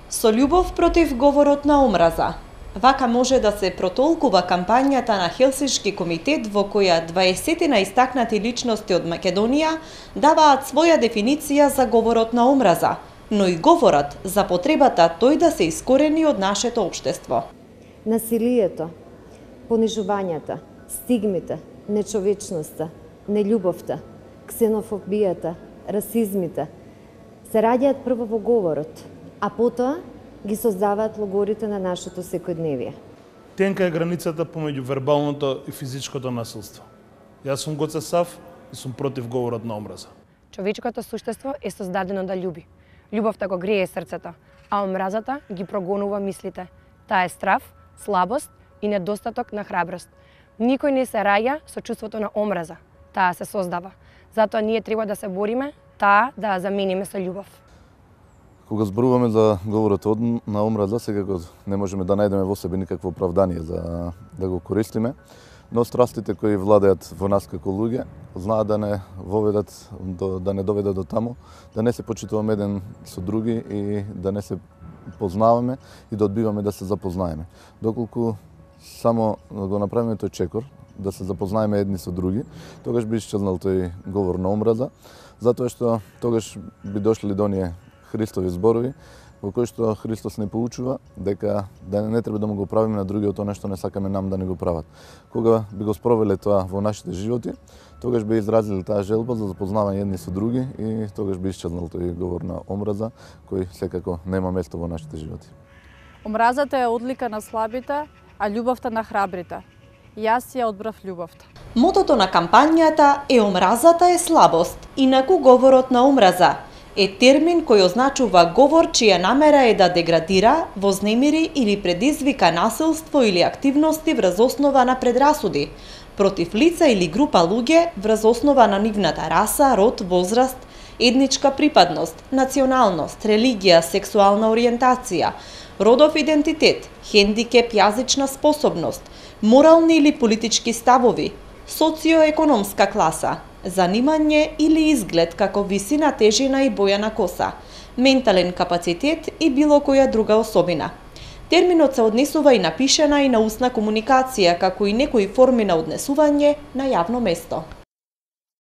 Со љубов против говорот на омраза. Вака може да се протолкува кампањата на Хелсиншки комитет во која 20 наистакнати личности од Македонија даваат своја дефиниција за говорот на омраза, но и говорат за потребата тој да се искорени од нашето општество. Насилието, понижувањата, стигмите, нечовечноста, нељубовта, ксенофобијата, расизмите се раѓаат прво во говорот, а потоа ги создаваат логорите на нашето секојдневие. Тенка е границата помеѓу вербалното и физичкото насилство. Јас сум Гоце Сав и сум против говорот на омраза. Човечкото суштество е создадено да љуби. Љубовта го грее срцето, а омразата ги прогонува мислите. Таа е страв, слабост и недостаток на храброст. Никој не се раѓа со чувството на омраза. Таа се создава. Затоа ние треба да се бориме таа да ја замениме со љубов. Кога зборуваме за говорот на омраза, секако не можеме да најдеме во себе никакво оправдание за да го користиме, но страстите кои владеат во нас како луѓе знаат да не воведат, да не доведат до таму, да не се почитуваме еден со други и да не се познаваме и да одбиваме да се запознаеме. Доколку само го направиме тој чекор, да се запознаеме едни со други, тогаш би исчезнал тој говор на омраза, затоа што тогаш би дошли до оние Христови зборови, во кои што Христос не поучува дека да не треба да му го правиме на другиот тоа што не сакаме нам да не го прават. Кога би го спровеле тоа во нашите животи, тогаш би изразили таа желба за запознавање едни со други и тогаш би исчезнал тој говор на омраза кој секако нема место во нашите животи. Омразата е одлика на слабите, а љубовта на храбрите. Јас ја одбрав љубовта. Мотото на кампањата е омразата е слабост, инаку говорот на омраза е термин кој означува говор чија намера е да деградира, вознемири или предизвика насилство или активности врз основа на предрасуди против лица или група луѓе врз основа на нивната раса, род, возраст, етничка припадност, националност, религија, сексуална ориентација, родов идентитет, хендикеп, јазична способност, морални или политички ставови, социоекономска класа, занимање или изглед како висина, тежина и боја на коса, ментален капацитет и било која друга особина. Терминот се однесува и на пишена и на устна комуникација, како и некои форми на однесување на јавно место.